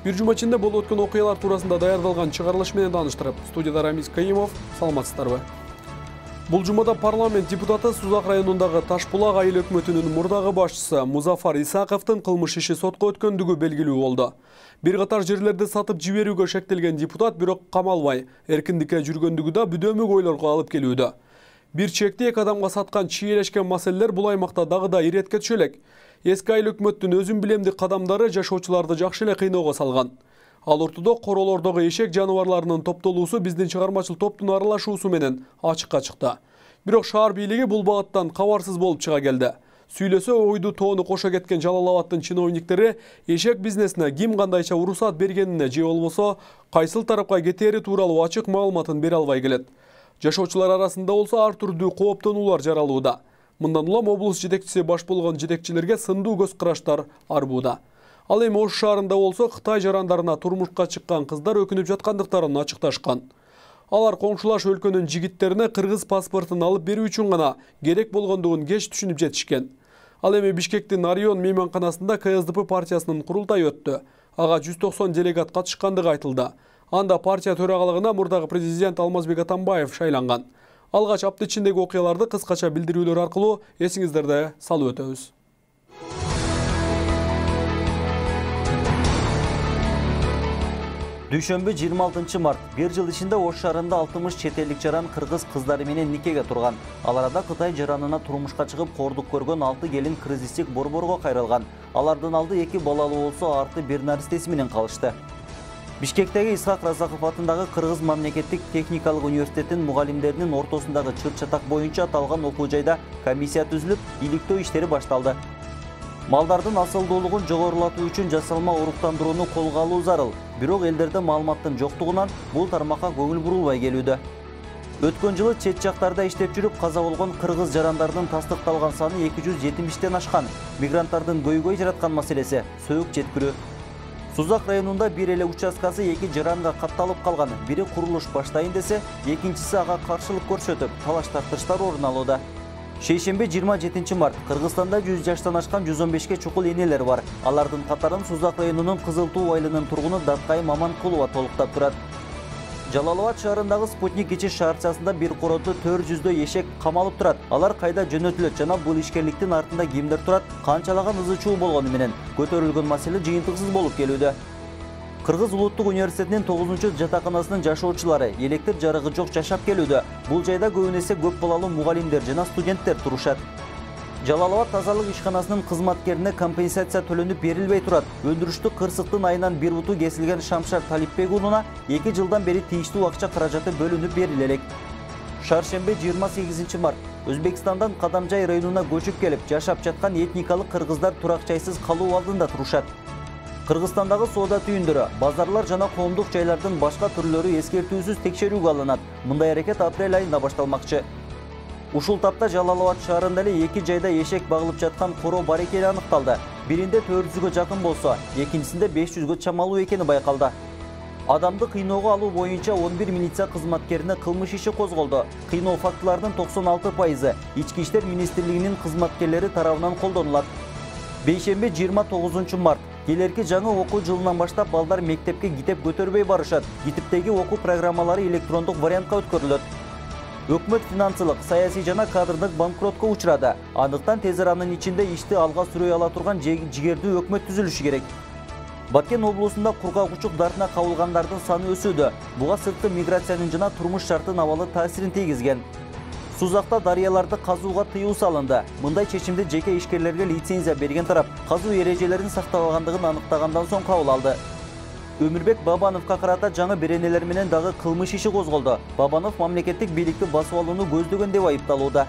Бир жума ичинде болуп өткөн окуялар туурасында даярдалган чыгарылыш менен тааныштырып, студияда Рамиз Каимов, саламатсыздарбы? Бул жумада парламент депутаты Сузак районундагы Ташбулак айыл өкмөтүнүн мурдагы башчысы Музафар Исаковдун кылмыш иши сотко өткөндүгү белгилүү болду. Бир катар жерлерди сатып жиберүүгө шектелген депутат бирок камалбай, эркиндикке жүргөндүгү да бүдөмүк ойлорго алып келүүдө. Бир чекти эки адамга саткан чийлешкен маселелер бул аймакта дагы да иретке түшө элек. Эски айыл өкмөттүн өзүн билемдик кадамдары жашоочуларды жакшы эле кыйноого салган. Ал ортодо королордогу эшек жаныбарларынын топтолуусу биздин чыгармачыл топтун аралашуусу менен ачыкка чыкты. Бирок шаар бийлиги бул багыттан кабарсыз болуп чыга келди. Сүйлөсө ойду тоону кошо кеткен Жалал Абадтын чиновниктери эшек бизнесине ким кандайча уруксат бергенине же болбосо кайсыл тарапка кетери тууралуу ачык маалыматын бере албай келет. Жашоочулар арасында болсо ар түрдүү кооптонуулар жаралууда. Мындан улам облус жетекчиси баш болгон жетекчилерге сындуу көз караштар арбууда. Ал эми Ош шаарында болсо Кытай жарандарына турмушка чыккан кыздар өкүнүп жаткандыктарын ачыкташкан. Алар коңшулаш өлкөнүн жигиттерине кыргыз паспортун алып берүү үчүн гана керек болгондугун кеч түшүнүп жетишкен. Ал эми Бишкектин Орион мейманканасында КСДП партиясынын курултайы өттү. Ага 190 делегат катышкандыгы айтылды. Анда партия төрагалыгына мурдагы президент Алмазбек Атамбаев шайланган. Алгач апта ичиндеги окуяларды кыскача билдирүүлөр аркылуу эсиңиздерде салып өтөбүз. Дүйшөмбү 26 март. Бир жыл ичинде Ош шаарында 60 чет элдик жаран кыргыз кыздары менен никеге турган. Ал арада Кытай жаранына турмушка чыгып кордук көргөн 6 келин кризистик борборго кайрылган. Алардын алды 2 балалуу болсо, арты бир наристеси менен калышты. Бишкектеги Исхак Разаков атындагы Кыргыз мамлекеттик техникалык университетинин мугалимдеринин ортосундагы чыр-чатак боюнча аталган окуу жайда комиссия түзүлүп, иликтөө иштери башталды. Малдардын асылдуулугун жогорулатуу үчүн жасалма уруктандырууну колго алуу зарыл. Бирок элдерде маалыматтын жоктугунан бул тармакка көңүл бурулбай келүүдө. Өткөн жылы чет жактарда иштеп жүрүп каза болгон кыргыз жарандарынын тастыкталган саны 270тен ашкан. Мигранттардын көйгөй жараткан маселеси сөйүк жеткирүү. Сузак районунда бир эле участкасы 2 жаранга катталып калган. Бири курулуш баштайын десе, экинчиси ага каршылык көрсөтүп, талаш-тартыштар орун алууда. Шейшемби 27 март. Кыргызстанда 100 жаштан ашкан 115 чукул энелер бар. Алардын катарын Сузак районунун Кызыл Туу айылынын тургуну Даткай Маманкулова толуктап турат. Жалал Абад шаарындагы Спутник кичи шаарчасында бир короту 400 эшек камалып турат. Алар кайда жөнөтүлөт жана бул ишкерликтин артында кимдер турат, канчалаган ызы чуу болгону менен көтөрүлгөн маселе жыйынтыксыз болуп келүүдө. Кыргыз улуттук университетинин 9-жатаканасынын жашоочулары электр жарыгы жок жашап келүүдө. Бул жайда көбүнесе көп балалуу мугалимдер жана студенттер турушат. Жалал Абад тазалык ишканасынын кызматкерине компенсация төлөнүп берилбей турат. Өндүрүштүк кырсыктын айынан бир буту кесилген Шамшар Талипбек уулуна 2 жылдан бери тийиштүү акча каражаты бөлүнүп бериле элек. Шаршембе 28 март. Өзбекстандан Кадамжай районуна көчүп келип жашап жаткан этникалык кыргыздар турак-жайсыз калуу алдында турушат. Кыргызстандагы соода түйүндөрү, базарлар жана коомдук жайлардын башка түрлөрү эскертүүсүз текшерүүгө алынат. Мындай аракет апрель айында башталмакчы. Ушул тапта Жалал Абад шаарында эле 2 жайда эшек багылып жаткан коро бар экени аныкталды. Биринде 400гө жакын болсо, экинчисинде 500гө чамалуу экени байкалды. Адамды кыйноого алуу боюнча 11 милиция кызматкерине кылмыш иши козголду. Кыйноо фактыларынын 96% Ички иштер министрлигинин кызматкерлери тарабынан колдонулат. Бейшемби 29 март. Келерки жаңы окуу жылынан баштап балдар мектепке китеп көтөрбөй барышат. Китептеги окуу программалары электрондук вариантка өткөрүлөт. Өкмөт финансылык, саясий жана кадрдык банкротко учурады. Андыктан тез аранын ичинде ишти алга сүрөй ала турган жигердүү өкмөт түзүлүшү керек. Баткен облусунда кургак-учук дартына кабылгандардын саны өсүүдө. Буга сырткы миграциянын жана турмуш шартын абалы таасирин тийгизген. Сузакта дарыяларды казууга тыюу салынды. Мындай чечимди жеке ишкерлерге лицензия берген тарап казуу эрежелерин сактабагандыгын аныктагандан соң кабыл алды. Өмүрбек Бабановго карата жаңы беренелер менен дагы кылмыш иши козголду. Бабанов мамлекеттик бийликти басып алууну көздөгөн деп айыпталууда.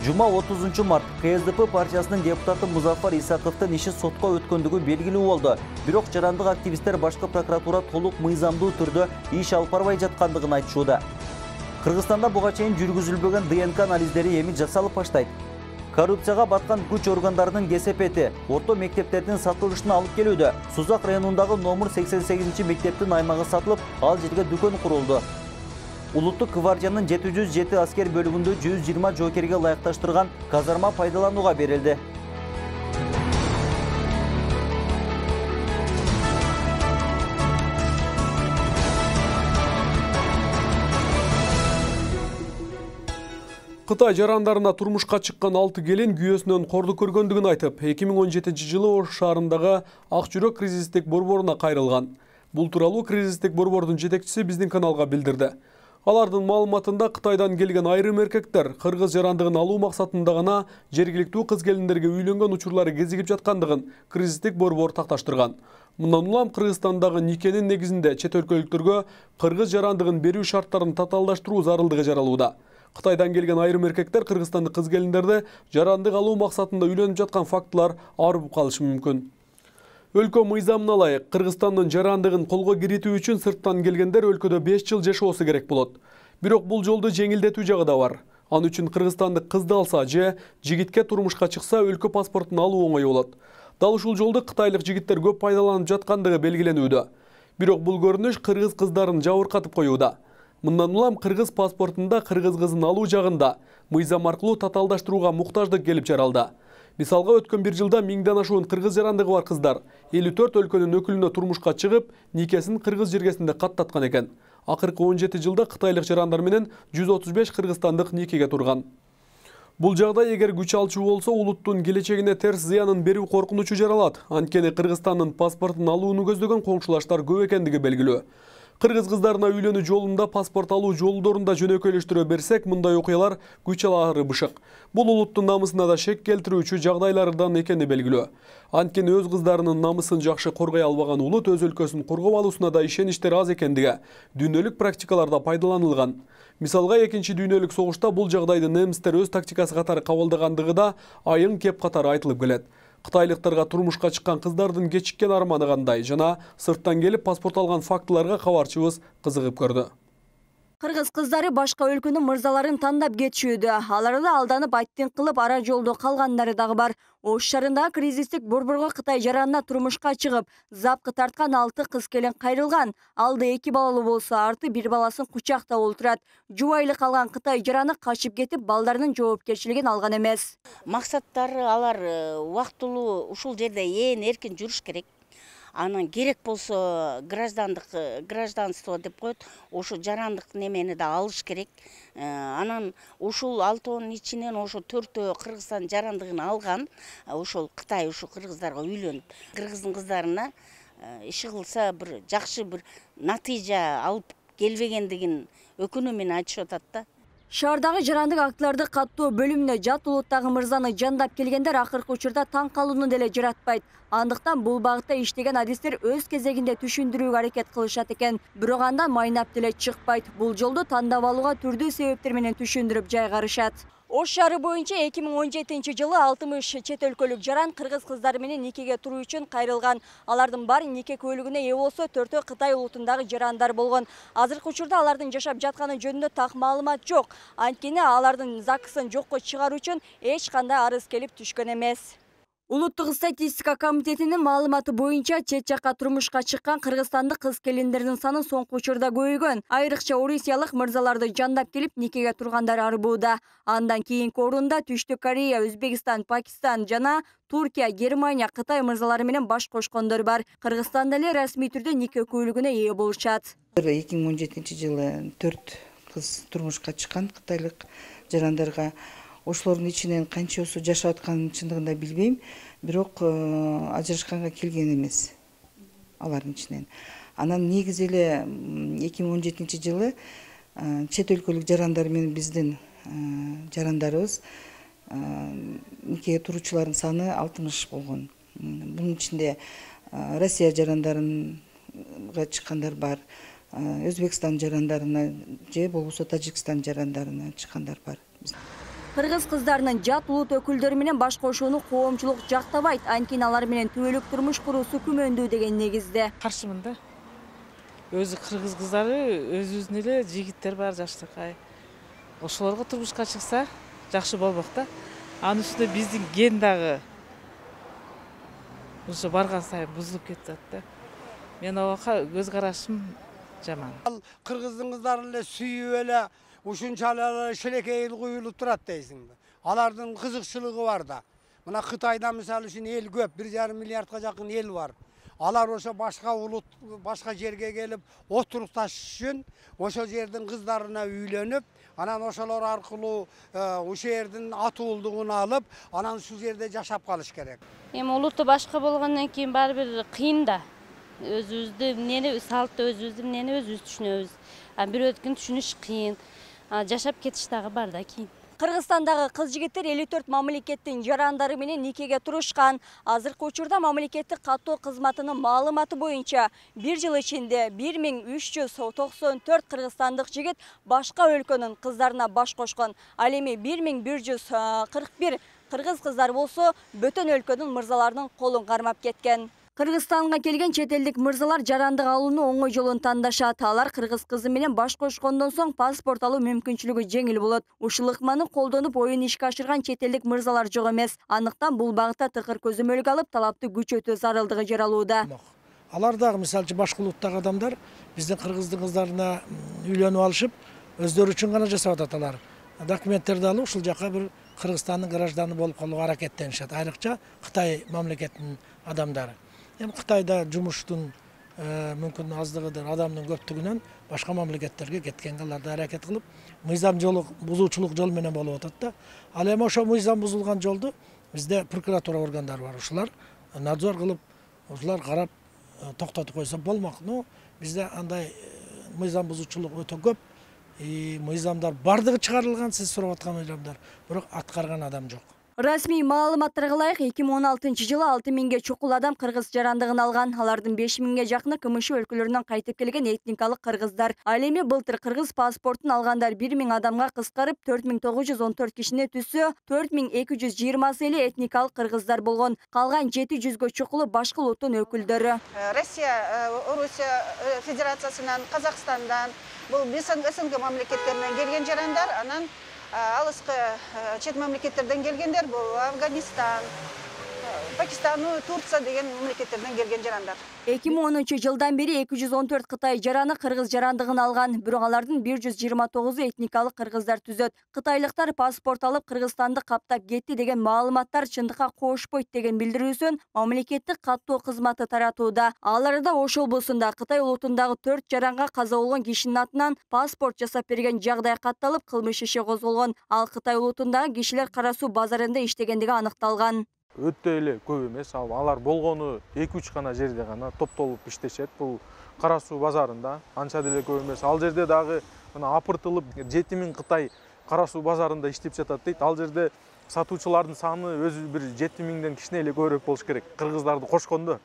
Жума 30 март. КСДП партиясынын депутаты Музафар Исаковдун иши сотко өткөндүгү белгилүү болду. Бирок жарандык активисттер башкы прокуратура толук мыйзамдуу түрдө иш алып барбай жаткандыгын айтышууда. Кыргызстанда буга чейин жүргүзүлбөгөн ДНК анализдери эми жасалып баштайт. Коррупцияга баткан күч органдарынын кесепети орто мектептердин сатылышына алып келүүдө. Сузак районундагы номер 88 мектептин аймагы сатылып, ал жерге дүкөн курулду. Улуттук гвардиянын 707 аскер бөлүгүндө 120 жоокерге ылайыкташтырган казарма пайдаланууга берилди. Кытай жарандарына турмушка чыккан 6 келин күйөөсүнөн корду көргөндүгүн айтып, 2017-жылы Ош шаарындагы Ак жүрөк кризистик борборуна кайрылган. Бул тууралуу кризистик борбордун жетекчиси биздин каналга билдирди. Алардын маалыматында Кытайдан келген айрым эркектер кыргыз жарандыгын алуу максатында гана жергиликтүү кыз-келиндерге үйлөнгөн учурлары кезигип жаткандыгын кризистик борбор такташтырган. Мындан улам Кыргызстандагы никенин негизинде чет өлкөлүктөргө кыргыз жарандыгын берүү шарттарын татаалдаштыруу зарылдыгы жаралууда. Кытайдан келген айрым эркектер кыргызстандык кыз-келиндерди жарандык алуу максатында үйлөнүп жаткан фактылар арып калышы мүмкүн. Өлкө мыйзамына ылайык Кыргызстандын жарандыгын колго киритүү үчүн сырттан келгендер өлкөдө 5 жыл жашоосу керек болот. Бирок бул жолду жеңилдетүү жагы да бар. Ал үчүн кыргызстандык кызды алса же жигитке турмушка чыкса өлкө паспортун алуу оңой болот. Дал ушул жолду кытайлык жигиттер көп пайдаланып жаткандыгы белгиленүүдө. Бирок бул көрүнүш кыргыз кыздарын жабыркатып коюуда. Мындан улам кыргыз паспортунда кыргыз кызын алуу жагында мыйзам аркылуу татаалдаштырууга муктаждык келип жаралды. Мисалга өткөн 1 жылда 1000ден ашуун кыргыз жарандыгы бар кыздар 54 өлкөнүн өкүлүнө турмушка чыгып, никесин кыргыз жергесинде каттаткан экен. Акыркы 17 жылда кытайлык жарандар менен 135 кыргызстандык никеге турган. Бул жагдай эгер күч алчу болсо, улуттун келечегине терс зыянын берүү коркунучу жаралат. Анткени Кыргызстандын паспортун алууну көздөгөн коңшулаштар көп экендиги белгилүү. Кыргыз кыздарына үйлөнүү жолунда паспорт алуу жолдорун да жөнөкөйлөштүрө берсек, мындай окуялар күч алары бышык. Бул улуттун намысына да шек келтирүүчү жагдайлардан экени белгилүү. Анткени өз кыздарынын намысын жакшы коргой албаган улут өз өлкөсүн коргоп алуусуна да ишеничтер аз экендиги дүйнөлүк практикаларда пайдаланылган. Мисалга, 2 дүйнөлүк согушта бул жагдайды немистер өз тактикасы катары кабылдагандыгы да айын кеп катары айтылып келет. Кытайлыктарга турмушка чыккан кыздардын кечиккен арманы кандай жана сырттан келип паспорт алган фактыларга кабарчыбыз кызыгып көрдү. Кыргыз кыздары башка өлкөнүн мырзаларын тандап кетишүүдө. Алар да алданып аттин кылып ара жолдо калгандары дагы бар. Ош шаарындагы кризистик борборго Кытай жаранына турмушка чыгып, запкы тарткан 6 кыз келин кайрылган. Алды 2 балалуу болсо, арты 1 баласын кучактап отурат. Жубайлы калган Кытай жараны качып кетип, балдарынын жоопкерчилигин алган эмес. Максаттары алар убактылуу ушул жерде эркин жүрүш керек. Анан керек болсо гражданство деп коет, ошо жарандык немени да алыш керек. Анан ушул 6-нын ичинен ошо 4-өө Кыргызстан жарандыгын алган. Ошол Кытай ушу кыргыздарга үйлөнүп, кыргыздын кыздарына иши кылса бир жакшы бир натыйжа алып келбегендигин өкүнүү менен айтышып атат да. Шаардагы жарандык актыларды каттоо бөлүмүнө жат улуттагы мырзаны жандап келгендер акыркы учурда таң калууну деле жаратпайт. Андыктан бул багытта иштеген адистер өз кезегинде түшүндүрүүгө аракет кылышат экен. Бирок андан майнап деле чыкпайт. Бул жолду тандап алууга түрдүү себептер менен түшүндүрүп жайгарышат. Ош шаары боюнча 2017-жылы 60 чет өлкөлүк жаран кыргыз кыздары менен никеге туруу үчүн кайрылган. Алардын баары нике куөлүгүнө ээ болсо, 4-өө Кытай улутундагы жарандар болгон. Азыркы учурда алардын жашап жатканы жөнүндө так маалымат жок. Анткени алардын ЗАГСын жокко чыгаруу үчүн эч кандай арыз келип түшкөн эмес. Улуттук статистика комитетинин маалыматы боюнча чет жакка турмушка чыккан кыргызстандык кыз-келиндердин саны соңку учурда көбөйгөн. Айрыкча орусиялык мырзаларды жандап келип никеге тургандар арбууда. Андан кийинки орунда Түштүк Корея, Өзбекстан, Пакистан жана Туркия, Германия, Кытай мырзалары менен баш кошкондор бар. Кыргызстанда эле расмий түрдө нике куөлүгүнө ээ болушат. 2017-жылы 4 кыз турмушка чыккан кытайлык жарандарга. Ошолордун ичинен канчасы жашап атканын чындыгында билбейм, бирок ажырашканга келген эмес алардын ичинен. Анан негизи эле 2017-жылы чет өлкөлүк жарандар менен биздин жарандарыбыз никеге туруучулардын саны 60 болгон. Бунун ичинде Россия жарандарына чыккандар бар, Өзбекстан жарандарына же болбосо Тажикстан жарандарына чыккандар бар. Кыргыз кыздарынын жат улут өкүлдөрү менен баш кошууну коомчулук жактабайт. Анткени алар менен түбөлүк турмуш куруусу күмөндүү деген негизде. Каршымын да. Өзү кыргыз кыздары өзүбүздүн эле жигиттер бар жаштыкай. Ошолорго турмушка чыкса жакшы болмок да. Анын үстүнө биздин ген дагы ошо барган сайын бузулуп кетет да. Мен ага көз карашым жаман. Ал кыргыздын кыздарын эле сүйүп эле ушунчалык шелекей куюлуп турат дейсиңби? Алардын кызыкчылыгы бар да. Мына Кытайда мисалы үчүн эл көп, 1,5 миллиардга жакын эл бар. Алар ошо башка улут, башка жерге келип отурукташыш үчүн ошол жердин кыздарына үйлөнүп, анан ошолор аркылуу ушул жердин атуулдугун алып, анан ушул жерде жашап калыш керек. Эми улутту башка болгондон кийин баары бир кыйын да. Өзүбүздү эмнени салтты өзүбүздү эмнени өзүбүз түшүнөбүз. А бирөөдүкүн түшүнүш кыйын. Жашап кетиш дагы бар да кийин. Кыргызстандагы кыз жигиттер 54 мамлекеттин жарандары менен никеге турушкан. Азыркы учурда мамлекеттик каттоо кызматынын маалыматы боюнча 1 жыл ичинде 1394 кыргызстандык жигит башка өлкөнүн кыздарына баш кошкон. Ал эми 1141 кыргыз кыздар болсо бөтөн өлкөнүн мырзаларынын колун кармап кеткен. Кыргызстанга келген чет элдик мырзалар жарандык алууну оңой жолун тандашат. Алар кыргыз кызы менен баш кошкондон соң паспорт алуу мүмкүнчүлүгү жеңил болот. Ушул ыкманы колдонуп оюн ишке ашырган чет элдик мырзалар жок эмес. Андыктан бул багытта тыкыр көзөмөлгө алып, талапты күчөтүү зарылдыгы жаралууда. Алар дагы мисалчы башка улуттагы адамдар биздин кыргыздын кыздарына үйлөнүп алышып, өздөрү үчүн гана жасап атат алар. Документтерди алып ушул жака бир Кыргызстандын гражданы болуп калууга аракеттенишет. Айрыкча Кытай мамлекетинин адамдары. Эми Кытайда жумуштун мүмкүн аздыгыдыр, адамдын көптүгүнөн башка мамлекеттерге кеткенге алар да аракет кылып, мыйзам жолу бузуучулук жол менен болуп атат да. Ал эми ошо мыйзам бузулган жолду бизде прокуратура органдары бар. Ушулар надзор кылып, ушулар карап токтотуп койсо болмок. Но бизде андай мыйзам бузуучулук өтө көп. Мыйзамдар бардыгы чыгарылган, сиз сурап аткан мыйзамдар, бирок аткарган адам жок. Расмий маалыматтарга ылайык 2016 жылы 6000ге чукул адам кыргыз жарандыгын алган. Алардын 5000ге жакыны КМШ өлкөлөрүнөн кайтып келген этникалык кыргыздар. Ал эми былтыр кыргыз паспортун алгандар 1000 адамга кыскарып 4914 кишини түзсө, 4220 эле этникалык кыргыздар болгон. Калган 700гө чукулу башка улуттун өкүлдөрү. Россия, Орусия Федерациясынан, Казакстандан, бул СНГ мамлекеттеринен келген жарандар, анан алыскы чет мамлекеттерден келгендер, бул Афганистан, Пакистан, Турция деген мамлекеттерден келген жарандар. 2010 жылдан бери 214 Кытай жараны кыргыз жарандыгын алган, бирок алардын 129 этникалык кыргыздар түзөт. Кытайлыктар паспорт алып Кыргызстанды каптап кетти деген маалыматтар чындыкка кошпойт деген билдирүүсүн мамлекеттик каттоо кызматы таратууда. Аларда Ош облусунда Кытай улутундагы 4 жаранга каза болгон кишинин атынан паспорт жасап берген жагдай катталып, кылмыш иши козголгон. Ал Кытай улутундагы кишилер Кара Суу базарында иштегендиги аныкталган. Өтө эле көп эмес, алар болгону 2-3 гана жерде гана топтолуп иштешет. Бул Кара Суу базарында анча деле көп эмес. Ал жерде дагы мына апыртылып 7000 Кытай Кара Суу базарында иштеп жатат дейт. Ал жерде сатуучулардын саны өзү бир 7000ден кичине эле көбүрөөк болуш керек. Кыргыздарды кошкондо.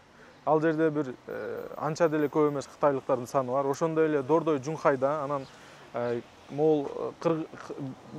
Ал жерде бир анча деле көп эмес кытайлыктардын саны бар. Ошондой эле Дордой, Жунхайда, анан Мол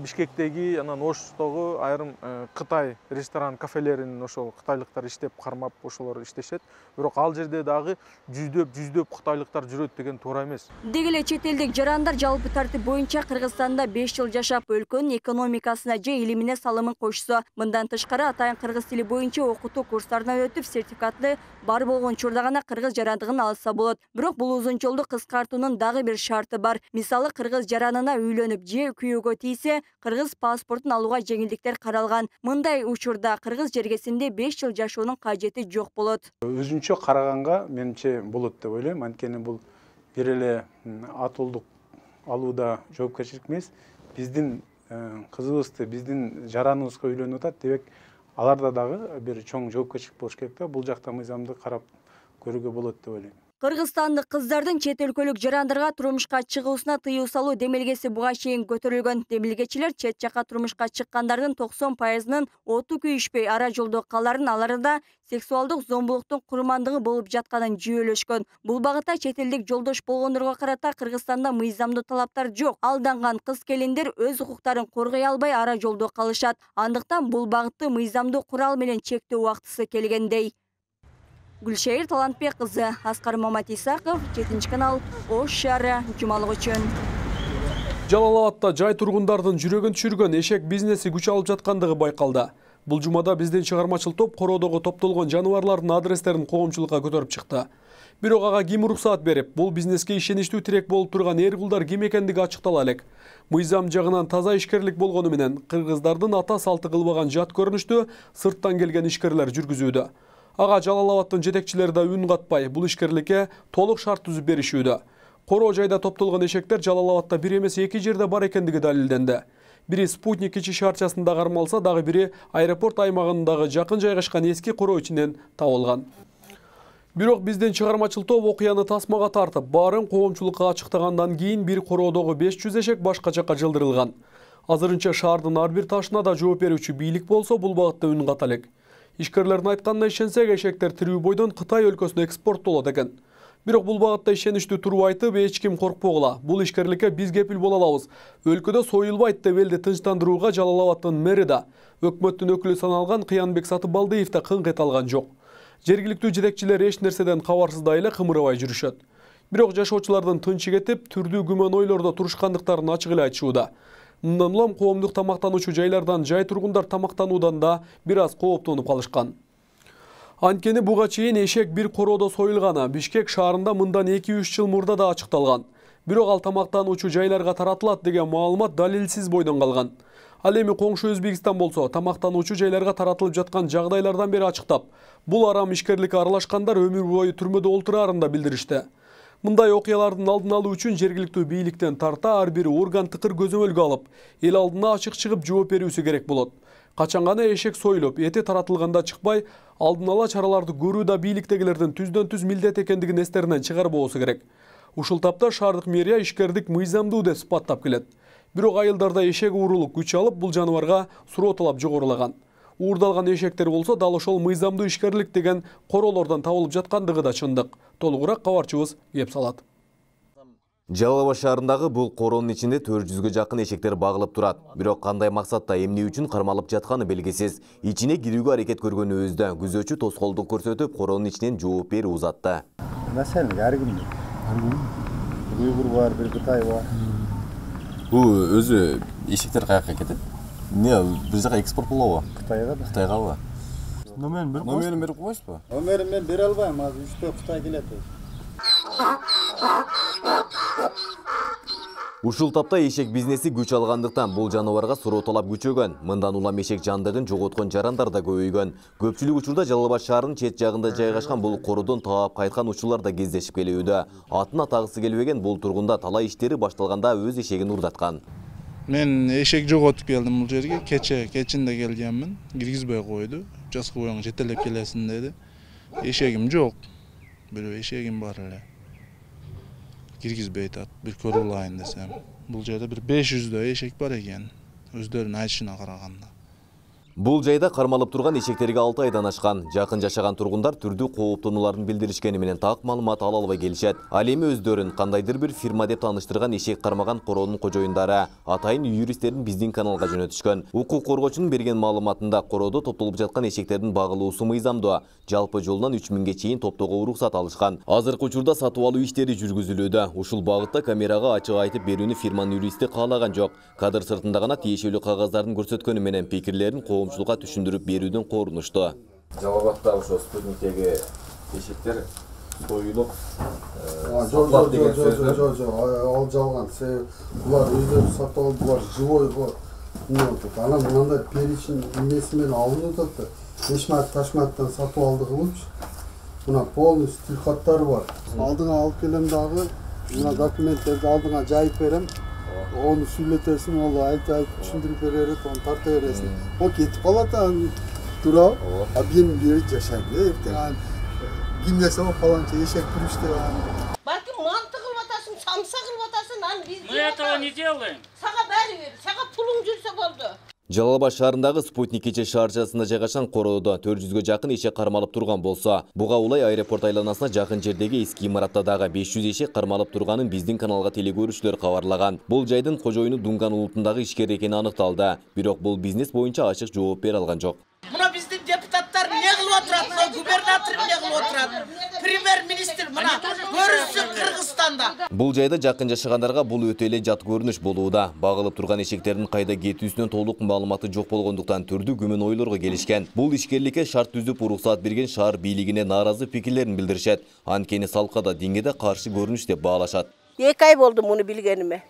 Бишкектеги, анан Оштогу айрым Кытай ресторан, кафелеринин ошол кытайлыктар иштеп кармап ошолор иштешет. Бирок ал жерде дагы жүздөп кытайлыктар жүрөт деген туура эмес. Деги эле чет элдик жарандар жалпы тартип боюнча Кыргызстанда 5 жыл жашап, өлкөнүн экономикасына же илимине салымын кошсо, мындан тышкары атайын кыргыз тили боюнча окутуу курстарынан өтүп, сертификаты бар болгон учурда гана кыргыз жарандыгын алса болот. Бирок бул узун жолду кыскартуунун дагы бир шарты бар. Мисалы, кыргыз жаранына үйлөнүп же күйөөгө тийсе, кыргыз паспортун алууга жеңилдиктер каралган. Мындай учурда кыргыз жергесинде 5 жыл жашоонун кажети жок болот. Өзүнчө караганга менимче болот деп ойлойм. Анткени бул бир эле атуулдук алууда жоопкерчилик эмес. Биздин кызыбызды, биздин жараныбызга үйлөнүп атат, демек аларда дагы бир чоң жоопкерчилик болуш керек да. Бул жакта мыйзамды карап көрүүгө болот деп ойлойм. Кыргызстандык кыздардын чет өлкөлүк жарандарга турмушка чыгуусуна тыюу салуу демилгеси буга чейин көтөрүлгөн. Демилгечилер чет жака турмушка чыккандардын 90%-нын оту күйүшпөй ара жолдо каларын, аларда сексуалдык зомбулуктун курмандыгы болуп жатканын жүйөлөшкөн. Бул багытта чет элдик жолдош болгондорго карата Кыргызстанда мыйзамдуу талаптар жок. Алданган кыз-келиндер өз укуктарын коргой албай ара жолдо калышат. Андыктан бул багытты мыйзамдуу курал менен чектөө убактысы келгендей. Гүлшайыр Талантбек кызы, Аскар Маматисаков, 7-канал, Ош шаары, жумалык үчүн. Жалал Абадта жай тургундардын жүрөгүн түшүргөн эшек бизнеси күч алып жаткандыгы байкалды. Бул жумада биздин чыгармачыл топ короодогу топтолгон жаныбарлардын адрестерин коомчулукка көтөрүп чыкты. Бирок ага ким уруксаат берип, бул бизнеске ишеничтүү тирек болуп турган эр кулдар ким экендиги ачыктала элек. Мыйзам жагынан таза ишкерлик болгону менен кыргыздардын ата салты кылбаган жат көрүнүштү сырттан келген ишкерлер жүргүзүүдө. Ага Жалал Абадтын жетекчилери да үн катпай, бул ишкерликке толук шарт түзүп беришүүдө. Короо жайда топтолгон эшектер Жалал Абадта бир эмес 2 жерде бар экендиги далилденди. Бири Спутник кичи шаарчасында кармалса, дагы бири аэропорт аймагындагы жакын жайгашкан эски короо ичинен табылган. Бирок биздин чыгармачыл топ окуяны тасмага тартып, баарын коомчулукка ачыктагандан кийин бир короодогу 500 эшек башка жакка жылдырылган. Азырынча шаардын ар бир ташына да жооп берүүчү бийлик болсо, бул багытта үн ката элек. Ишкерлердин айтканына ишенсек, эшектер тирүү бойдон Кытай өлкөсүнө экспорттолот экен. Бирок бул багытта ишеничтүү туруп айтып, эч ким коркпогула. Бул ишкерликке биз кепил боло алабыз. Өлкөдө союлбайт деп элди тынчтандырууга Жалал Абадтын мэри да, өкмөттүн өкүлү саналган Кыянбек Сатыбалдиев да кыңк эте алган жок. Жергиликтүү жетекчилер эч нерседен кабарсыздай эле кымырабай жүрүшөт. Бирок жашоочулардын тынчы кетип, түрдүү күмөн ойлордо турушкандыктарын ачык эле айтышууда. Мындан улам коомдук тамактануучу жайлардан жай тургундар тамактануудан да бир аз кооптонуп калышкан. Анткени буга чейин эшек бир короодо союлганы Бишкек шаарында мындан 2-3 жыл мурда да ачыкталган. Бирок ал тамактануучу жайларга таратылат деген маалымат далилсиз бойдон калган. Ал эми коңшу Өзбекстан болсо, тамактануучу жайларга таратылып жаткан жагдайлардан бери ачыктап, бул арам ишкерликке аралашкандар өмүр бою түрмөдө олтураарын да билдиришти. Мындай окуялардын алдын алуу үчүн жергиликтүү бийликтен тарта ар бир орган тыкыр көзөмөлгө алып, эл алдына ачык чыгып жооп берүүсү керек болот. Качан гана эшек союлуп, эти таратылганда чыкпай, алдын ала чараларды көрүү да бийликтегилердин түздөн-түз милдет экендигин эстеринен чыгарбоосу керек. Ушул тапта шаардык мэрия ишкердик мыйзамдуу деп сыпаттап келет. Бирок айылдарда эшек уурулук күч алып, бул жаныбарга суроо талап жогорулаган. Уурдалган эшектер болсо дал ошол мыйзамдуу ишкерлик деген короолордон табылып жаткандыгы да чындык. Толугураак кабарчыбыз кеп салат. Жалал Абад шаарындагы бул короонун ичинде 400гө жакын эшектер багылып турат. Бирок кандай максатта, эмне үчүн кармалып жатканы белгисиз. Ичине кирүүгө аракет көргөнүбүздө күзөчү тоскоолдук көрсөтүп, короонун ичинен жооп берүү узатты. Маселе ар кимде. Уйгур бар, бир Кытай бар. Бул өзү эшектер каяка кетет? Не, бир жака экспорт болобу? Кытайга да. Кытайгабы? Номерин берип койсузбу? Номерин мен бере албайм, азыр 3-4 Кытай келет. Ушул тапта эшек бизнеси күч алгандыктан бул жаныбарга суроо талап күчөгөн. Мындан улам эшек жандыгын жоготкон жарандар да көбөйгөн. Көпчүлүк учурда Жалал Абад шаарынын чет жагында жайгашкан бул короодон таап кайткан учурлар да кездешип келүүдө. Атын атагысы келбеген бул тургунда талай иштери башталганда өз эшегин урдаткан. Мен эшек жоготуп келдим бул жерге, кечинде келгенмин. Киргизбей койду. Жаскы боюң жетелеп келесиң деди. Эшегим жок. Бирөө эшегим бар эле. Киргизбей атат, бир көрүп алайын десем. Бул жерде бир 500дөй эшек бар экен, өздөрүнүн айтышына караганда. Бул жайда кармалып турган эшектерге 6 айдан ашкан. Жакын жашаган тургундар түрдүү кооптонууларын билдиришкени менен так маалымат ала албай келишет. Ал эми өздөрүн кандайдыр бир фирма деп тааныштырган эшек кармаган короонун кожоюндары атайын юристтерин биздин каналга жөнөтүшкөн. Укук коргоочунун берген маалыматында короодо топтолуп жаткан эшектердин багылуусу мыйзамдуу. Жалпы жолунан 3000ге чейин топтоого уруксат алышкан. Азыркы учурда сатып алуу иштери жүргүзүлүүдө. Ушул багытта камерага ачык айтып берүүнү фирманын юристи каалаган жок. Кадыр сыртында гана тиешелүү кагаздарын көрсөткөнү менен пикирлерин коомчулукка түшүндүрүп берүүдөн корунушту. Жалал Абадта ошо Спутниктеги эшектер союлуп сатылат деген сөз. Жок, ал жалган. Булар өздөрү сатып алып, булар живой го. Анан мындай перечень эмеси менен алынып атат. Эшмат Ташматтан сатып алды кылыпчы. Мына полностью тилхаттары бар. Алдыңа алып келем дагы, мына документтерди алдыңа жайып берем. Onu сүйлөтөсүң, ол айтып түшүндүрүп берет, onu тарта бересиң. О кетип калат, тура. А мен бери жашайм. Эртең ким десе фаланча эшек күрүштү. Балким манты кылып атасың, самса кылып атасың, аны биз. Мы этого не делаем. Сага бери бер, сага пулуң жүрсө болду. Жалал Абад шаарындагы Спутник кече шаарчасында жайгашкан короодо 400гө жакын эшек кармалып турган болсо, буга улай аэропорт айланасына жакын жердеги эски имаратта дагы 500 эшек кармалып турганын биздин каналга телекөрүүчүлөр кабарлаган. Бул жайдын кожоюну Дунган улутундагы ишкер экени аныкталды. Бирок бул бизнес боюнча ачык жооп бере алган жок. Мына биздин депутаттар эмне кылып отурат, мына губернатор эмне кылып отурат, премьер-министр мына көрүнсүн Кыргызстанда. Бул жайда жакын жашагандарга бул өтө эле жат көрүнүш болууда. Багылып турган эшектердин кайда кетүүсүнөн толук маалыматы жок болгондуктан түрдүү күмөн ойлорго келишкен. Бул ишкерликке шарт түзүп уруксат берген шаар бийлигине нааразы пикирлерин билдиришет. Анткени салкада деңгеде каршы көрүнүш деп баалашат. 2 ай болду муну билгениме.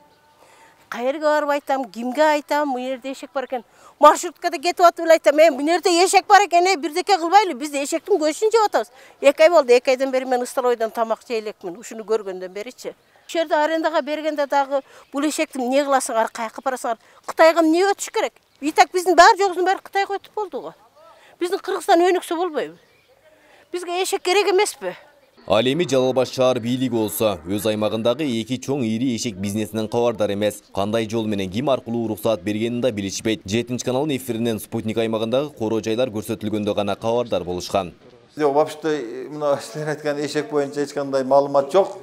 Кайерге барып айтам, кимге айтам, бу жерде эшек бар экен. Маршруткада кетип атып эле айтам, мен бу жерде эшек бар экен, бирдеке кылбайлы, биз эшектин көчүн жеп атабыз. 2 ай болду, 2 айдан бери мен Ысталойдон тамак жей элекмин, ушуну көргөндөн беричи. ушул жерде арендага бергенде дагы бул эшекти эмне кыласыңар, каяка барасыңар? Кытайга эмне өтүш керек? И так биздин баары жогусун баары Кытайга өтүп болду го. Биздин Кыргызстан өнүксө болбойбу? Бизге эшек керек эмеспи? Ал эми Жалал Абад шаар бийлиги болсо, өз аймагындагы эки чоң ири эшек бизнесинен кабардар эмес. Кандай жол менен ким аркылуу уруксаат бергенин да билишпейт. 7 каналдын эфиринен Спутник аймагындагы короо жайлар көрсөтүлгөндө гана кабардар болушкан. Вообще мына силер айткан эшек боюнча эч кандай маалымат жок.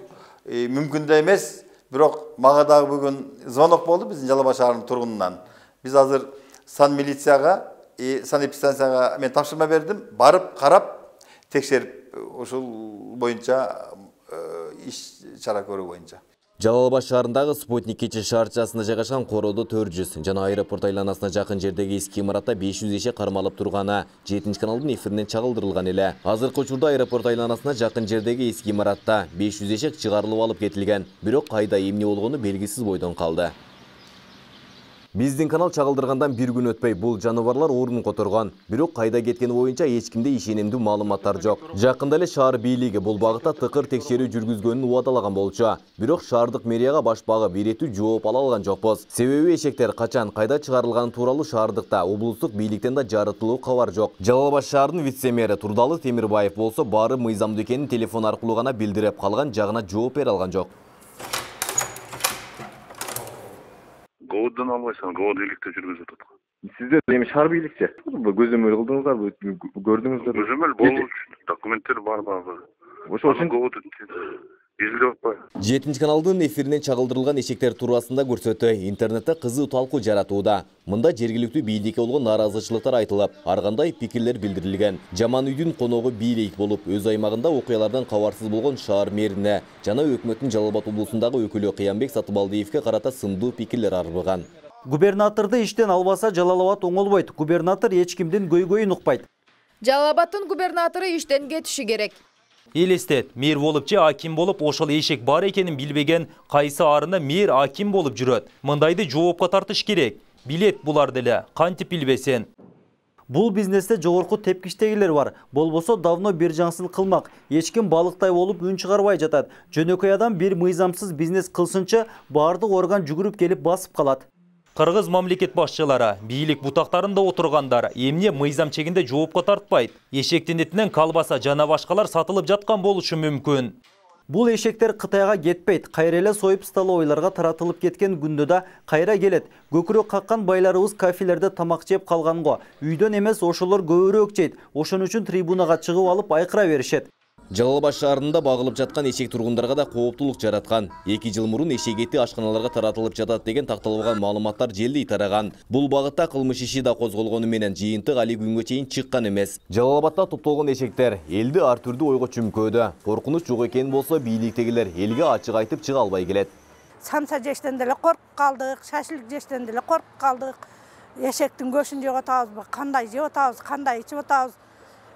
Мүмкүн да эмес. Бирок мага дагы бүгүн звонок болду биздин Жалал Абад шаарынын тургунунан. Биз азыр сан милицияга, санэпидстанцияга мен тапшырма бердим. Барып карап текшерип ошол боюнча иш чара көрүү боюнча. Жалал Абад шаарындагы Спутник кече шаарчасында жайгашкан короодо 400 жана аэропорт айланасына жакын жердеги эски имаратта 500 эшек кармалып турганы 7 каналдын эфиринен чагылдырылган эле. Азыркы учурда аэропорт айланасына жакын жердеги эски имаратта 500 эшек чыгарылып алып кетилген. Бирок кайда эмне болгону белгисиз бойдон калды. Биздин канал чагылдыргандан бир күн өтпөй бул жаныбарлар орун которгон. Бирок кайда кеткени боюнча эч кимде ишенимдүү маалыматтар жок. Жакында эле шаар бийлиги бул багытта тыкыр текшерүү жүргүзгөнүн убадалаган болчу. Бирок шаардык мэрияга башпагы биретүү жооп ала алган жокпуз. Себеби эшектер качан кайда чыгарылганы тууралуу шаардыкта облустук бийликтен да жарытылуу кабар жок. Жалал Абад шаарынын вице-мэри Турдалы Темирбаев болсо баары мыйзамдуу экенин телефон аркылуу гана билдирип калган, жагына жооп бере алган жок. Говоддон албайсың, говод бийликте жүргүзүп атат. Сиздер эми шаар бийликчи көзөмөл кылдыңыздарбы, көрдүңүздөр? Көзөмөл болуу үчүн документтер бар багы. Ошол үчүн говод изилдеп атпайбы? 7 каналдын эфиринен чагылдырылган эшектер туурасында көрсөтүү интернетте кызуу талкуу жаратууда. Мында жергиликтүү бийликке болгон нааразычылыктар айтылып, ар кандай пикирлер билдирилген. Жаман үйдүн коногу бийлик болуп, өз аймагында окуялардан кабарсыз болгон шаар мэрине жана өкмөттүн Жалал Абад облусундагы өкүлү Кыямбек Сатыбалдиевке карата сындуу пикирлер арбыган. Губернаторду иштен албаса Жалал Абад оңолбойт. Губернатор эч кимдин көйгөйүн укпайт. Жалал Абадтын губернатору иштен кетиши керек. Элестет, мэр болуп же аким болуп ошол эшек бар экенин билбеген кайсы арына мэр аким болуп жүрөт. Мындайды жоопко тартыш керек. Билет булар деле, кантип билбесен. Бул бизнесте жогорку тепкичтегилер бар. Болбосо давно бир жаңсыз кылмак. Эч ким балыктай болуп үн чыгарбай жатат. Жөнөкөй адам бир мыйзамсыз бизнес кылсынча баардык орган жүгүрүп келип басып калат. Кыргыз мамлекет башчылары, бийлик бутактарында отургандар эмне мыйзам чегинде жоопко тартпайт. Эшектин этинен колбаса жана башкалар сатылып жаткан болушу мүмкүн. Бул эшектер Кытайга кетпейт. Кайра эле союп столовойлорго таратылып кеткен күндө да кайра келет. Көкүрөк каккан байларыбыз кафелерде тамак жеп калганго. Үйдөн эмес ошолор көбүрөөк жейт. Ошон үчүн трибунага чыгып алып айкыра беришет. Жалал Абад шаарында багылып жаткан эшек тургундарга да кооптулук жараткан. 2 жыл мурун эшек эти ашканаларга таратылып жатат деген такталбаган маалыматтар желдей тараган. Бул багытта кылмыш иши да козголгону менен жыйынтык али күнгө чейин чыккан эмес. Жалал Абадта топтолгон эшектер элди ар түрдүү ойго чүмкөөдө. Коркунуч жок экен болсо бийликтегилер элге ачык айтып чыга албай келет. Самса жештен деле коркуп калдык, шашлык жештен деле коркуп калдык. Эшектин көшүн жеп атабызбы, кандай жеп атабыз, кандай ичип атабыз.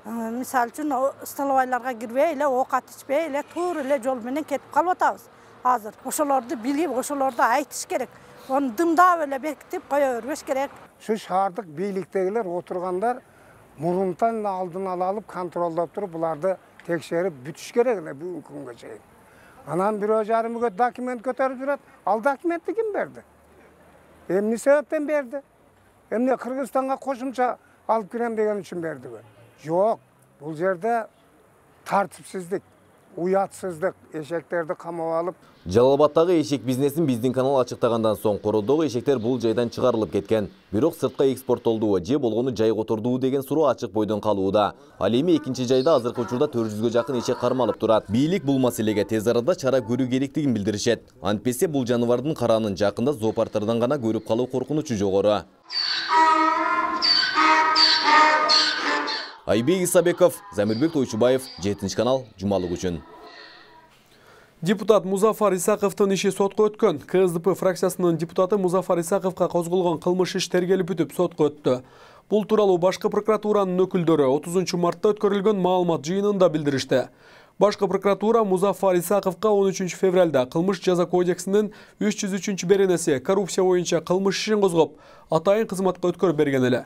Мисалы үчүн столовойлорго кирбей эле, оокат ичпей эле, туура эле жол менен кетип калып атабыз. Азыр ошолорду билип, ошолорду айтыш керек. Оны дымдап эле бекитип кое бербеш керек. Şu шаардык бийликтегилер отургандар мурунтан алдын ала алып контролдоп туруп, буларды текшерип бүтүш керек эле бүгүнкү күнгө чейин. Анан бирөө жарымы документ көтөрүп жүрөт. Ал документти ким берди? Эмне себептен берди? Эмне Кыргызстанга кошумча алып кирем деген үчүн бердиби? Жоқ, бұл жерде тартипсиздик, уятсыздык, эшектерди камап алып. Жалал Абадтагы эшек бизнесин биздин канал ачыктагандан соң короодогу эшектер бул жайдан чыгарылып кеткен. Бирок сыртка экспорттолдубу же болгону жайга отурдубу деген суроо ачык бойдон калууда. Ал эми экинчи жайда азыркы учурда 400гө жакын эшек кармалып турат. Бийлик бул маселеге тез арада чара көрүү керектигин билдиришет. Антпесе бул жаныбардын каранын жакында зоопарктардан гана көрүп калуу коркунучу жогору. Айбек Исабеков, Замирбек Тойчубаев, 7 канал, Жумалык үчүн. Депутат Музафар Исаковдун иши сотко өткөн. КСДП фракциясынын депутаты Музафар Исаковго козголгон кылмыш иш тергелип бүтүп сотко өттү. Бул тууралуу башкы прокуратуранын өкүлдөрү 30 мартта өткөрүлгөн маалымат жыйынында билдиришти. Башкы прокуратура Музафар Исаковго 13 февралда кылмыш жаза кодексинин 303 беренеси коррупция боюнча кылмыш ишин козгоп, атайын кызматка өткөрүп берген эле.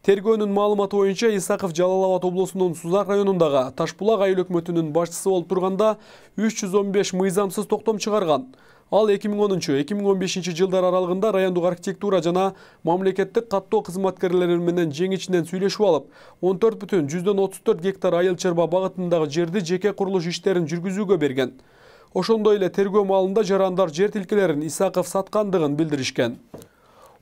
Тергөөнүн маалыматы боюнча Исаков Жалал Абад облусунун Сузак районундагы Ташбулак айыл өкмөтүнүн башчысы болуп турганда 315 мыйзамсыз токтом чыгарган. Ал 2010-2015 жылдар аралыгында райондук архитектура жана мамлекеттик каттоо кызматкерлери менен жеңичинен сүйлөшүп алып, 14,34 гектар айыл чарба багытындагы жерди жеке курулуш иштерин жүргүзүүгө берген. Ошондой эле тергөө маалында жарандар жер тилкелерин Исаков саткандыгын билдиришкен.